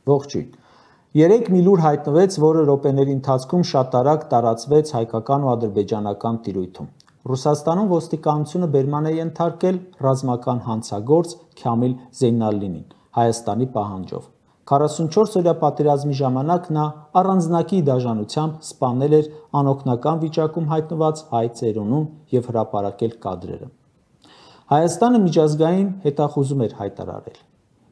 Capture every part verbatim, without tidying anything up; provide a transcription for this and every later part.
Ողջույն։ Երեք մի լուր հայտնվեց, որը րոպեների ընթացքում շատ արագ տարածվեց հայկական ու ադրբեջանական տիրույթում։ Ռուսաստանում ոստիկանությունը բերման է ենթարկել ռազմական հանցագործ Քամիլ Զեյնալինին Հայաստանի պահանջով։ քառասունչորս օրյա պատերազմի ժամանակ նա առանձնակի դաժանությամբ սպանել էր անօգնական վիճակում հայտնված հայ ծերունուն և հրապարակել կադրերը։ Հայաստանը միջազգային հետախուզում էր հայտարարել,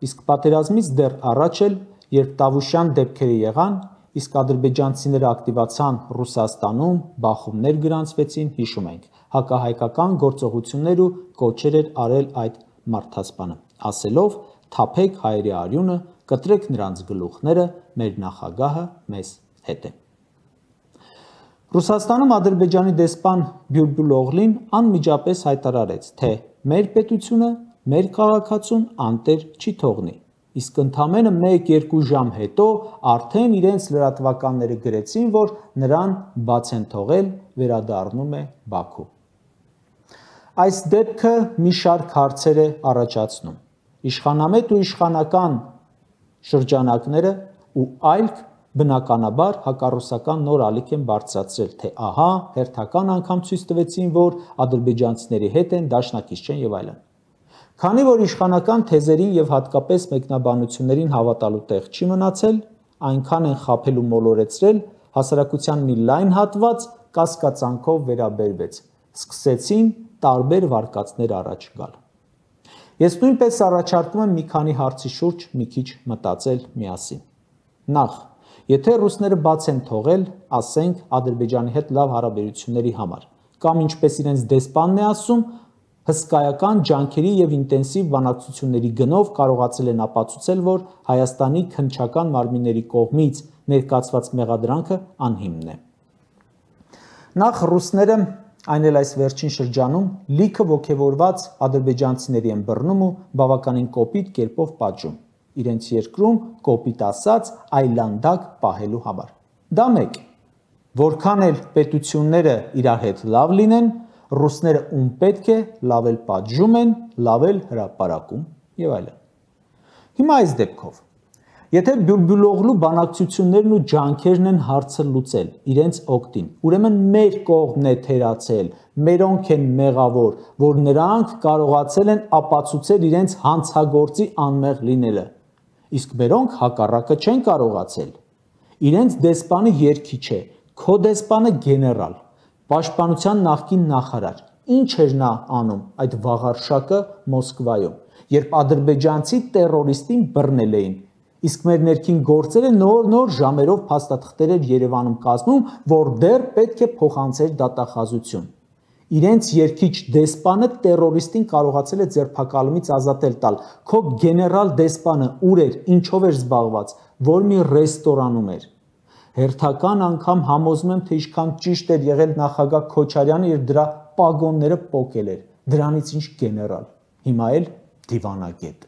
իսկ պատերազմից դեռ առաջ էլ, երբ Տավուշյան դեպքերը եղան, իսկ ադրբեջանցիները ակտիվացան Ռուսաստանում, բախումներ գրանցվեցին, հիշում ենք, հակահայկական գործողություններ ու կոչեր էր արել այդ մարդասպանը, ասելով «Թափեք հայերի արյունը, կտրեք նրանց գլուխները, մեր նախագահը մեզ հետ է»։ Ռուսաստանում Ադրբեջանի դեսպան Բյուլբուլ Օղլին անմիջապես հայտարարեց, թե մեր պետությունը, մեր քաղաքացուն անտեր չի թողնի, իսկ ընդամենը մեկ-երկու ժամ հետո արդեն իրենց լրատվականները գրեցին, որ նրան բաց են թողել, վերադառնում է Բաքու։ Այս դեպքը մի շարք հարցեր է առաջացնում։ Իշխանամետ ու իշխանական շրջանակները ու այլք բնականաբար հակառուսական նոր ալիք են բարձրացրել, թե ահա հերթական անգամ ցույց տվեցին, որ ադրբեջանցիների հետ են, դաշնակից չեն եւ այլն։ Քանի որ իշխանական թեզերին եւ հատկապես մեկնաբանություններին հավատալու տեղ չի մնացել, այնքան են խաբել ու մոլորեցրել, հասարակության մի լայն հատված կասկածանքով վերաբերվեց, սկսեցին տարբեր վարկածներ առաջ գալ։ Ես նույնպես առաջարկում եմ մի քանի հարցի շուրջ մի քիչ մտածել միասին։ Նախ, եթե ռուսները բաց են թողել, ասենք Ադրբեջանի հետ լավ հարաբերությունների համար, կամ ինչպես իրենց դեսպանն է ասում, հսկայական ջանքերի եւ ինտենսիվ բանակցությունների գնով կարողացել են ապացուցել, որ Հայաստանի քննչական մարմինների կողմից ներկայացված մեղադրանքը անհիմն է։ Նախ ռուսները, այն էլ այս վերջին շրջանում, լիքը ոգևորված ադրբեջանցիների են բռնում ու բավականին կոպիտ կերպով պատժում, իրենց երկրում կոպիտ ասած այլանդակ պահելու համար։ Դա մեկ, որքան էլ պետությունները իրար հետ լավ լինեն, ռուսները ում պետք է լավ էլ պատժում են, լավ էլ հրապարակում եւ այլն։ Հիմա այս դեպքով, եթե Բյուլբուլօղլու բանակցություններն ու ջանքերն են հարցը լուծել իրենց օգտին, ուրեմն մեր կողմն է թերացել, մերոնք են մեղավոր, որ նրանք կարողացել են ապացուցել իրենց հանցագործի անմեղ լինելը, իսկ մերոնք հակառակը չեն կարողացել։ Իրենց դեսպանը երգիչ է, քո դեսպանը գեներալ, պաշտպանության նախկին նախարար, ինչ էր նա անում այդ վաղարշակը Մոսկվայում, երբ ադրբեջանցի տերորիստին բռնել էին, իսկ մեր ներքին գործերը նոր-նոր ժամերով փաստաթղթեր էր Երևանում կազմում, որ դեռ պետք է փոխանցեր դատախազություն։ Իրենց երգիչ դեսպանը տերորիստին կարողացել է ձերբակալումից ազատել տալ, քո գեներալ դեսպանը ուր էր, ինչով էր զբաղված, որ մի ռեստորանում էր։ Հերթական անգամ համոզում եմ, թե ինչքան ճիշտ էր եղել նախագահ Քոչարյանը եւ դրա պագոնները պոկել էր, դրանից ինչ գեներալ, հիմա էլ դիվանագետ։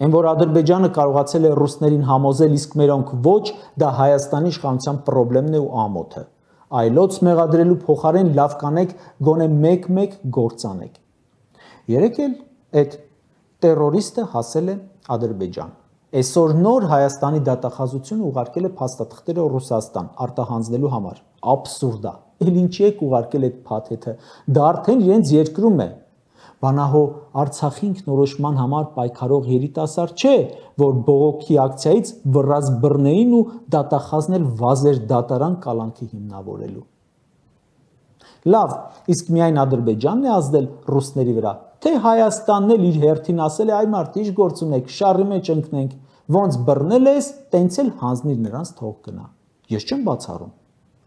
Այն որ Ադրբեջանը կարողացել է ռուսներին համոզել, իսկ մերոնք ոչ, դա Հայաստանի իշխանության խնդիրն է ու ամոթը։ Այլոց մեղադրելու փոխարեն լավ կանեք, գոնե մեկ-մեկ գործանեք։ Երեկ էլ այդ տերորիստը հասել է Ադրբեջան։ Այսօր նոր Հայաստանի դատախազությունը ուղարկել է փաստաթղթերը Ռուսաստան արտահանձնելու համար։ Աբսուրդ է։ Էլ ինչի եք ուղարկել այդ փաթեթը։ Դա արդեն իրենց երկրում է։ Բանահո Արցախի ինքնորոշման համար պայքարող երիտասարդ չէ, որ բողոքի ակցիայից վռած բռնեին ու դատախազնել վազեր դատարան կալանքի հիմնավորելու։ Լավ, իսկ միայն Ադրբեջանն է ազդել ռուսների վրա, թե Հայաստանն էլ իր հերթին ասել է, այ մարդ, ինչ գործ ունեք, շարի մեջ ընկնենք, ոնց բռնել ես, տենց էլ հանձնիր նրանց թող գնա։ Ես չեմ բացառում։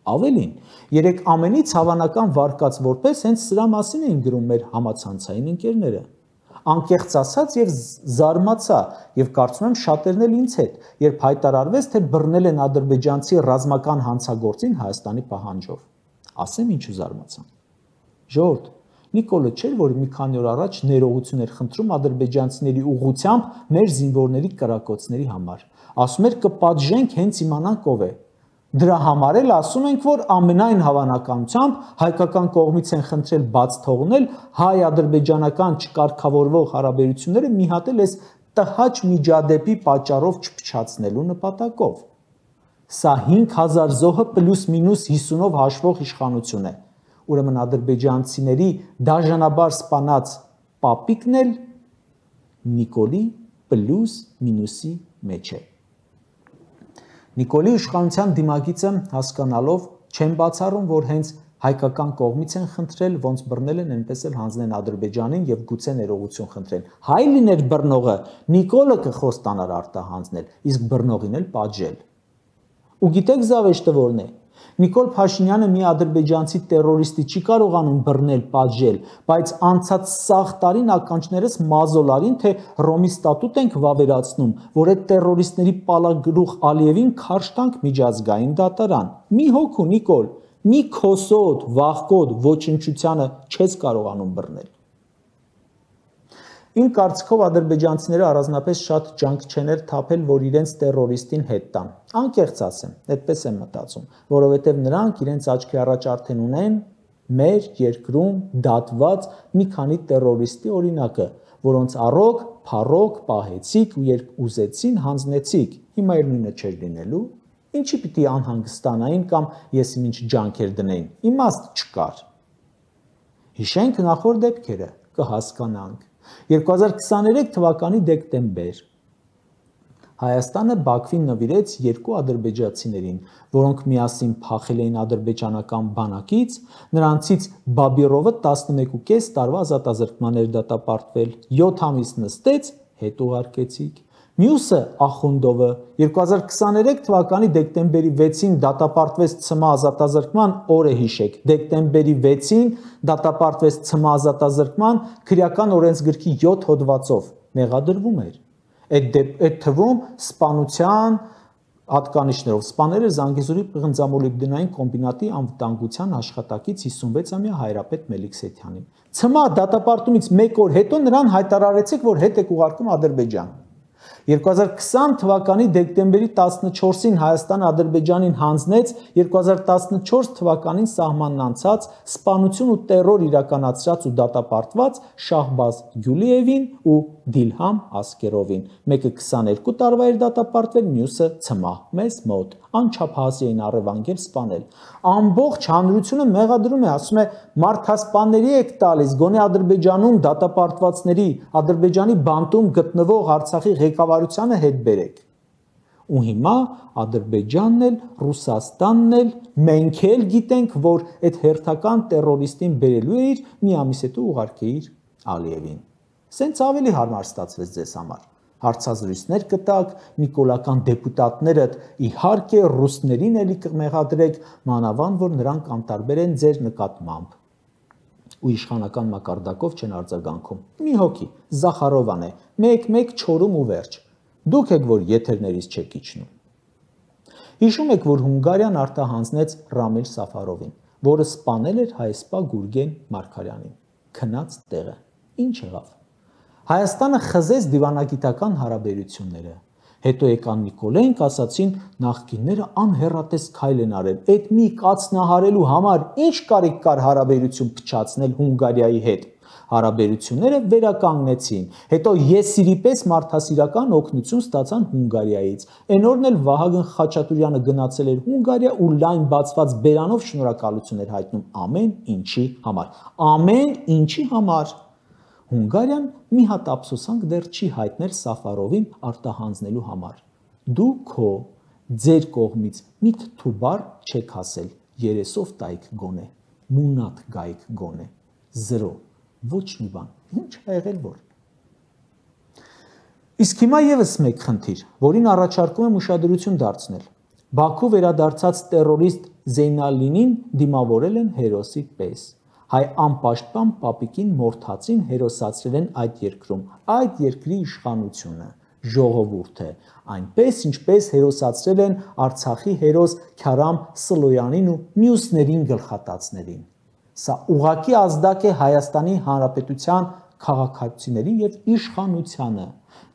Ավելին, երեք ամենից հավանական վարկած որպես հենց սրա մասին էին գրում մեր համացանցային ընկերները։ Անկեղծ ասած եւ զարմացա եւ կարծում եմ շատերն էլ ինձ հետ, երբ հայտարարվեց, թե բռնել են ադրբեջանցի ռազմական հանցագործին Հայաստանի պահանջով։ Ասեմ ինչու զարմացան։ Ժողովուրդ, Նիկոլը չէր, որ մի քանի օր առաջ ներողություն էր խնդրում ադրբեջանցիների ուղղությամբ մեր զինվորների կրակոցների համար։ Ասում էր կպատժենք, հենց իմանանք ով է։ Դրա համար էլ ասում ենք, որ ամենայն հավանականությամբ հայկական կողմից են խնդրել բաց թողնել հայ-ադրբեջանական չկարգավորվող հարաբերությունները մի հատ էլ այս տհաճ միջադեպի պատճառով չփչացնելու նպատակով։ Սա հինգ հազար զոհը պլյուս մինուս հիսունով հաշվող իշխանություն է։ Ուրեմն ադրբեջանցիների դաժանաբար սպանած պապիկն էլ Նիկոլի պլյուս մինուսի մեջ է։ Նիկոլի իշխանության դիմագիծը հասկանալով չեն բացառում, որ հենց հայկական կողմից են խնդրել, ոնց բռնել են, այնպես էլ հանձնեն Ադրբեջանին եւ գուցե ներողություն խնդրեն։ Հայ լիներ բռնողը, Նիկոլը կխոստանար արտահանձնել, իսկ բռնողին էլ պատժել։ Ու գիտեք զավեշտը որն է։ Նիկոլ Փաշինյանը մի ադրբեջանցի տերորիստի չի կարողանում բռնել, պատժել, բայց անցած սաղ տարին ականջներս մազոլարին, թե Ռոմի ստատուտ ենք վավերացնում, որ այդ տերորիստների պալագլուխ Ալիևին քարշ տանք միջազգային դատարան։ Մի հոգու Նիկոլ, մի քոսոտ, վախկոտ, ոչնչությանը չես կարողանում բռնել։ Իմ կարծիքով ադրբեջանցիները առանձնապես շատ ջանք չեն թափել, որ իրենց տերորիստին հետ տան։ Անկեղծ ասեմ, այդպես եմ մտածում, որովհետև նրանք իրենց աչքի առաջ արդեն ունեն մեր երկրում դատված մի քանի տերորիստի օրինակը, որոնց առոգ, փառոգ, պահեցիք ու երբ ուզեցին հանձնեցիք, հիմա էլ նույնը չէր լինելու, ինչի պիտի անհանգստանային կամ ես ինչ ջանքեր դնեին, իմաստ չկար։ Հիշենք նախորդ դեպքերը, կհասկանանք։ երկու հազար քսաներեք թվականի դեկտեմբեր Հայաստանը Բաքվին նվիրեց երկու ադրբեջանցիներին, որոնք միասին փախել էին ադրբեջանական բանակից, նրանցից Բաբիրովը տասնմեկուկես տարվա ազատազրկման էր դատապարտվել, յոթ ամիս նստեց, հետ ուղարկեցիք։ Մյուսը Ախունդովը երկու հազար քսաներեք թվականի դեկտեմբերի վեցին դատապարտվեց ցմահ ազատազրկման, օրը հիշեք, դեկտեմբերի վեցին դատապարտվեց ցմահ ազատազրկման քրեական օրենսգրքի յոթ հոդվածով, մեղադրվում էր։ Այդ այդ թվում սպանության հատկանիշներով սպանել էր Զանգեզուրի պղնձամոլիբդենային կոմբինատի անվտանգության աշխատակից հիսունվեցամյա Հայրապետ Մելիքսեթյանին։ Ցմահ դատապարտումից մեկ օր հետո նրան հայտարարեցիք, որ հետ եք ուղարկում Ադրբեջան։ երկու հազար քսան թվականի դեկտեմբերի տասնչորսին Հայաստանը Ադրբեջանին հանձնեց երկու հազար տասնչորս թվականին սահմանն անցած սպանություն ու տերոր իրականացրած ու դատապարտված Շահբազ Գյուլիևին ու Դիլհամ Ասկերովին, մեկը քսաներկու տարվա էր դատապարտվել, մյուսը ցմահ, մեզ մոտ, անչափահասի էին առևանգել սպանել։ Ամբողջ հանրությունը մեղադրում է, ասում է մարդասպանների եք տալիս, գոնե Ադրբեջանում դատապարտվածների, Ադրբեջանի բանտում գտնվող Արցախի ղեկավարությանը հետ բերեք։ Ու հիմա Ադրբեջանն էլ, Ռուսաստանն էլ, մենք էլ գիտենք, որ այդ հերթական տերորիստին բերելու էիր, մի ամիս հետո ուղարկեիր Ալիևին։ Սենց ավելի հարմար ստացվեց ձեզ համար։ Հարցազրույցներ կտակ, նիկոլական դեպուտատներդ իհարկե ռուսներին էլի կմեղադրեք, մանավանդ որ նրանք անտարբեր են ձեր նկատմամբ։ Ու իշխանական մակարդակով չեն արձագանքում։ Մի հոգի, Զախարովան է, մեկ-մեկ չորում ու վերջ։ Դուք եք, որ եթերներից չեք իջնում։ Հիշում եք, որ Հունգարիան արտահանձնեց Ռամիլ Սաֆարովին, որը սպանել էր հայսպա Գուրգեն Մարգարյանին։ Քնած տեղը։ Ինչ եղավ։ Հայաստանը խզեց դիվանագիտական հարաբերությունները, հետո եկան Նիկոլենք, ասացին նախկինները անհեռատես քայլ են արել, այդ մի կացնահարելու համար ինչ կարիք կար հարաբերություն փչացնել Հունգարիայի հետ, հարաբերությունները վերականգնեցին, հետո եսիրի պես մարդասիրական օգնություն ստացան Հունգարիայից, այն օրն էլ Վահագն Խաչատուրյանը գնացել էր Հունգարիա ու լայն բացված բերանով շնորհակալություն էր հայտնում ամեն ինչի համար, ամեն ինչի համար։ Հունգարիան մի հատ ափսոսանք դեռ չի հայտնել Սաֆարովին արտահանձնելու համար։ Դու քո ձեր կողմից մի թթուբար չեք ասել, երեսով տայք գոնե, մունատ գայք գոնե, զրո, ոչ մի բան, ինչ ա եղել որ։ Իսկ հիմա եւս մեկ խնդիր, որին առաջարկում եմ ուշադրություն դարձնել։ Բաքու վերադարձած տերորիստ Զեյնալինին դիմավորել են հերոսի պես։ Հայ անպաշտպան պապիկին մորթացին հերոսացրել են այդ երկրում, այդ երկրի իշխանությունը, ժողովուրդը, այնպես ինչպես հերոսացրել են Արցախի հերոս Քարամ Սլոյանին ու մյուսներին գլխատածներին։ Սա ուղղակի ազդակ է Հայաստանի Հանրապետության քաղաքացիներին եւ իշխանությանը։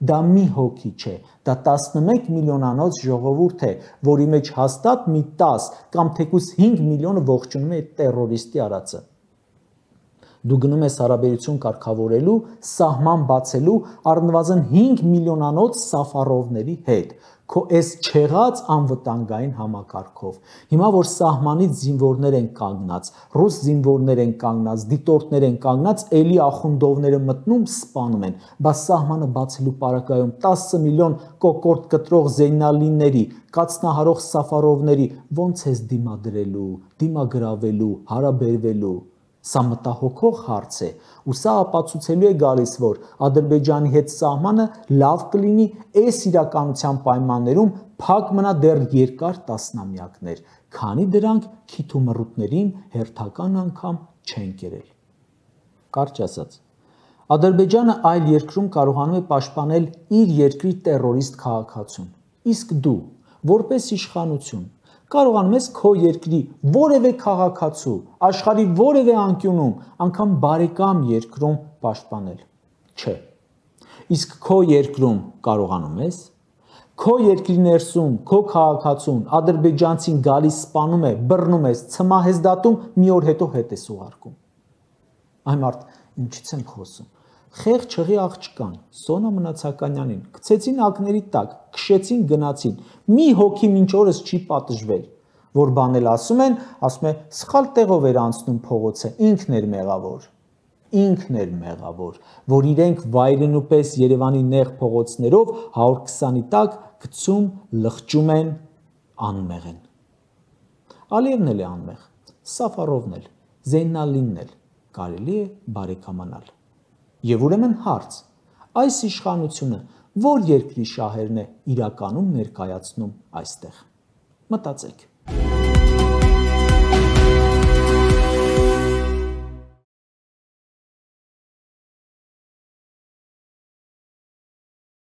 Դա մի հոգի չէ, դա տասնմեկ միլիոնանոց ժողովուրդ է, որի մեջ հաստատ մի տաս կամ թեկուզ հինգ միլիոնը ողջունում է այդ տերորիստի արածը։ Դու գնում ես հարաբերություն կարգավորելու, սահման բացելու առնվազն հինգ միլիոնանոց Սաֆարովների հետ, քո այս չեղած անվտանգային համակարգով։ Հիմա որ սահմանից զինվորներ են կանգնած, ռուս զինվորներ են կանգնած, դիտորդներ են կանգնած, էլի ախունդովները մտնում, սպանում են, բայց սահմանը բացելու պարագայում տասը միլիոն կոկորտ կտրող Զեյնալինների, կացնահարող Սաֆարովների ոնց ես դիմադրելու, դիմագրավելու, հարաբերվելու։ Սա մտահոգող հարց է, ու սա ապացուցելու է գալիս, որ Ադրբեջանի հետ սահմանը լավ կլինի այս իրականության պայմաններում փակ մնա դեռ երկար տասնամյակներ, քանի դրանք քիթումռուտներին հերթական անգամ չեն կերել։ Կարճ ասած, Ադրբեջանը այլ երկրում կարողանում է պաշտպանել իր երկրի տերորիստ քաղաքացուն, իսկ դու, որպես իշխանություն, կարողանում ես քո երկրի որևէ քաղաքացու, աշխարհի որևէ անկյունում, անգամ բարեկամ երկրում պաշտպանել։ Չէ։ Իսկ քո երկրում կարողանում ես, քո երկրի ներսում, քո քաղաքացուն, ադրբեջանցին գալիս սպանում է, բռնում ես, ցմահ ես դատում, մի օր հետո հետ ես ուղարկում։ Այ մարդ, ինչից եմ խոսում։ Խեղ չղի աղջկան, Սոնա Մնացականյանին, գցեցին ակների տակ, քշեցին գնացին, մի հոգի մինչ օրս չի պատժվել, որ բանել ասում են, ասում է, սխալ տեղով էր անցնում փողոցը, ինքն էր մեղավոր, ինքն էր մեղավոր, որ իրենք վայրենու պես Երևանի նեղ փողոցներով հարյուր քսանի տակ գցում, լղջում են, անմեղ են։ Ալիևն էլ է անմեղ, Սաֆարովն էլ, Զեյնալինն էլ, կարելի է բարեկամանալ։ Եվ ուրեմն հարց, այս իշխանությունը որ երկրի շահերն է իրականում ներկայացնում այստեղ։ Մտածեք։